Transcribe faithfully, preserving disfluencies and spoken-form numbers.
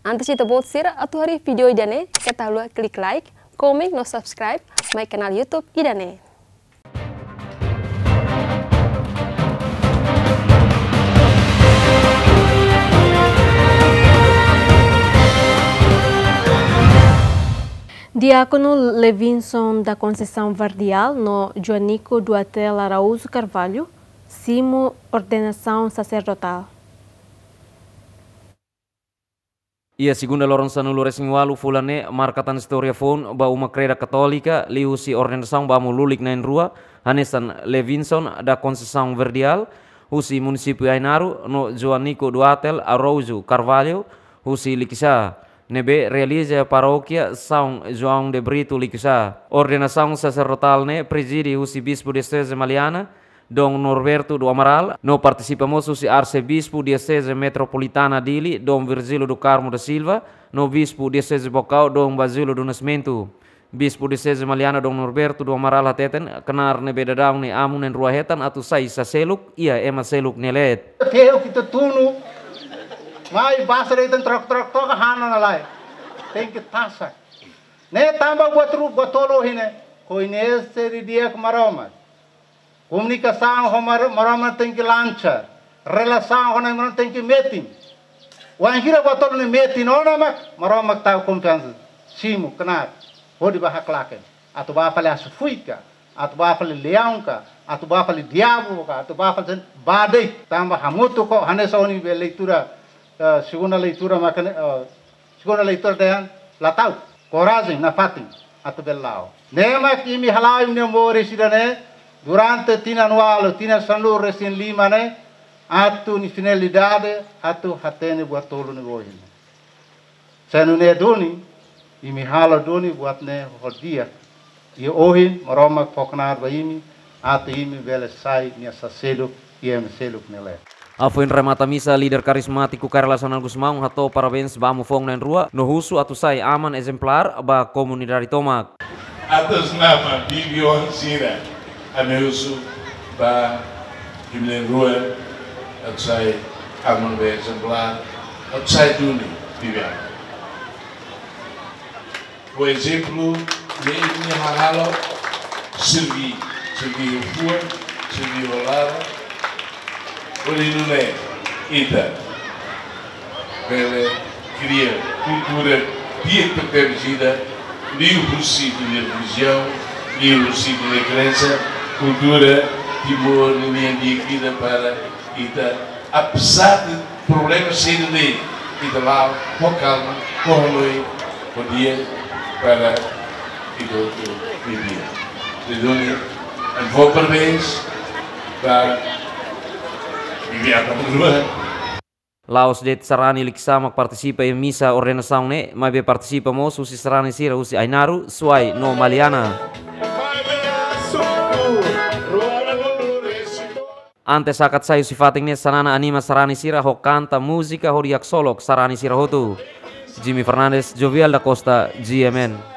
Antes ita-boot sira atu haree vídeo ida-ne'e, keta haluha klik like, komen no subscribe mai kanál YouTube ida-ne'e. Diákonu Levinson da Conceição Verdial no Joanico Duarte Araújo Carvalho simu ordenasaun saserdotál. Iha segunda loron sanulu-resin-ualu fulan ne'e marka tan istória foun ba uma kreda Katólika liuhusi ordenasaun ba amu lulik na'in-rua, hanesan Levinson da Conceição Verdial husi munisípiu Ainaro no Joanico Duarte Araújo Carvalho husi Likisá, ne'ebé realiza iha parókia São João de Brito Likisá. Ordenasaun saserdotál ne'e prezide husi Bispu Dioseze Maliana, Dom Norberto do Amaral, no partisipa mós husi Arsebispu Dioseze Metropolitana Dili, Dom Virgílio do Carmo da Silva, no Bispu Dioseze Baucau, Dom Basílio do Nascimento. Bispu Dioseze Maliana, Dom Norberto do Amaral hateten, knaar ne'ebé daudaun ne'e amu na'in-rua hetan atu sai saseluk iha ema seluk nia leet. Ferru ita tunu, mai basa de'it trok-trok toka hana na lai. Tenke tasak. Ne'e tanba buat rua, buat tolu ohin ne'e. Koñese didi'ak Maromak. Komunikasaun ho Mar-, Maromak tenke lancar. Relasaun ho Maromak tenke metin. Wainhira buat tolu ne'e metin ona mak, Maromak tau konfiansa. Simu, knaar. Hodi bá haklaken. Atu bá fali asu-fuik ka, atu bá fali leaun ka, atu bá fali diabu ka, atu bá fali sen-, bá de'it. Tanba hamutuk ho, hanesan ohin be leitura, eh, segunda leitura mak ne'e, eh, segunda leitura dehan, la tau. Korajen nafatin atu bele la'o. Ne'e mak imi hala'o imi-nia moris ida-ne'e, durante tinan ualu, tinan sanulu-resin-lima ne'e, atu nia finalidade, atu hatene buat tolu ne'e ohin. Se nune'e duni, imi halo duni buat ne'e ho di'ak. I ohin, Maromak fó knaar ba imi, atu imi bele sai nia saseluk, iha ema seluk nia leet. Hafoin remata misa, líder karizmátiku Kay Rala Xanana Gusmão hato'o parabéns ba amu foun na'in-rua, no husu atu sai aman ezemplár ba komunidade tomak. Atas nama bibi-oan sira, ami husu ba imi na'in-rua atu sai aman ne'ebé ezemplár, atu sai duni bibi-oan. Ho ezemplu ne'ebé imi hahalok, serbí, serbí ho fuan, serbí ho laran, hodi nune'e ita bele kria kultura di'ak tebes ida, liuhusi ita-nia relijiaun, liuhusi ita-nia krénsa, kultura Timor nian di'ak ida para ita, apezar de problema sira ne'e, ita la'o ho kalma, ho hanoin, ho di'ak para ita hotu vive. Jadi, ami fó parabéns ba bibi-oan na'in-rua. La'ós de'it sarani Likisá mak partisipa iha misa ordenasaun ne'e, maibé partisipa mós husi sarani sira husi Ainaro, Suai no Maliana. Antes hakat sai husi fatin ne'e, Xanana anima sarani sira ho kanta, múzika hodi haksolok sarani sira hotu. Jimmy Fernandes, Jovial da Costa, G M N.